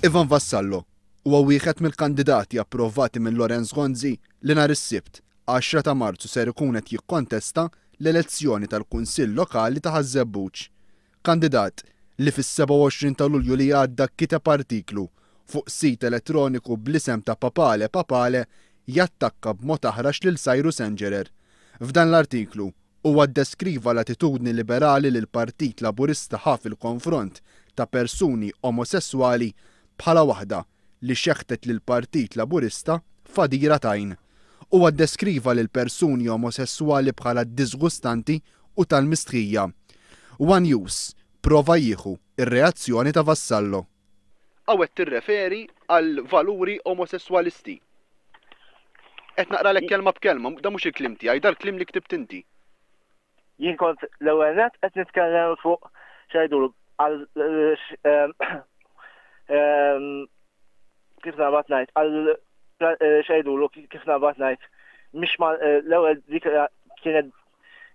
Ivan Vassallo huwa wieħed mill-kandidati approvati minn Lawrence Gonzi li nhar is-Sibt, 10 ta' Marzu ser ikun qed jikkontesta l-elezzjoni tal-Kunsill Lokali ta' Ħaż-Żebbuġ. Kandidat li fis-27 ta' Lulju li għadda kiteb artiklu fuq sit elettroniku bl-isem ta' Papale Papale jattakka b'mod aħrax lil Cyrus Engerer. F'dan l-artiklu, Huwa ddeskriva l-attitudni liberali li l-Partit Laburista ħa fil-konfront ta' persuni omosesswali bħala waħda li xeħtet lill-Partit Laburista f'għadira t'għajn. Huwa ddeskriva lill-persuni omosesswali bħala diżgustanti u tal-mistħija. One News prova jieħu r-reazzjoni ta' Vassallo. Hawn qed tirreferi għal valuri omosesswalisti. Qed naqralek kelma b'kelma, dan mhux il-kliem tiegħi, dal-kliem li ktibt inti. Jien kont l-ewwel nett qed nitkellem fuq x'għidulu għal kif naqbad ngħid għal x'għidulu kif naqbad ngħid mhix l-ewwel dik kienet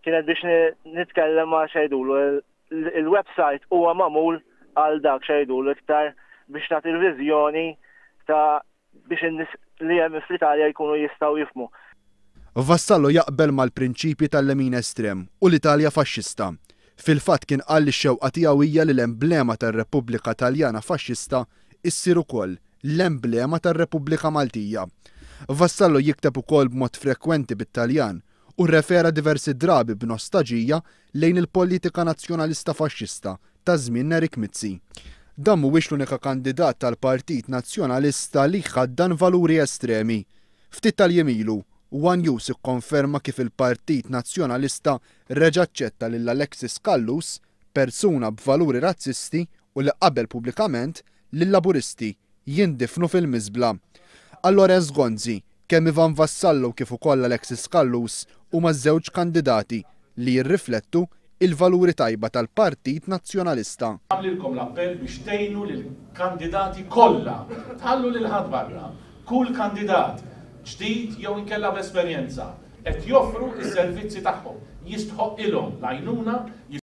kienet biex nitkellem ma' x'għidulu Il-website huwa magħmul għal dak x'għidulu iktar biex nagħti l-viżjoni ta' biex in-nies li hemm fl-Italja jkunu jistgħu jifhmu. Vassallo jaqbel mal-prinċipji tal-lemin estrem u l-Italja faxxista. Fil-fatt kien qal li x-xewqa tiegħu hija li l-emblema tar-Repubblika Taljana faxxista issir ukoll l-emblema tar-Repubblika Maltija. Vassallo jikteb ukoll b'mod frekwenti bit-Taljan u rrefera diversi drabi b'nostaġija lejn il-politika nazzjonalista faxxista ta' żmien Nerik Mizzi. Dan mhuwiex l-unika kandidat tal-Partit Nazzjonalista li jħaddan valuri estremi. Ftit tal-jiem ilu, one News ikkonferma kif il-Partit Nazzjonalista reġa' aċċetta lil Alexis Callus, persuna b'valuri razzisti u li qabel pubblikament li l-Laburisti jindifnu fil-miżbla. Għal Lawrence Gonzi, kemm Ivan Vassallo kif ukoll Alexis Callus huma żewġ kandidati li jirriflettu il-valuri tajba tal-Partit Nazzjonalista. Nagħmlilkom l-appell biex tgħinu lill-kandidati kollha, tħallu lil ħadd barra. Kull kandidat, ġdid jew inkella b'esperjenza, qed joffru s-servizzi tagħhom. Jistħoqqilhom l-għajnuna.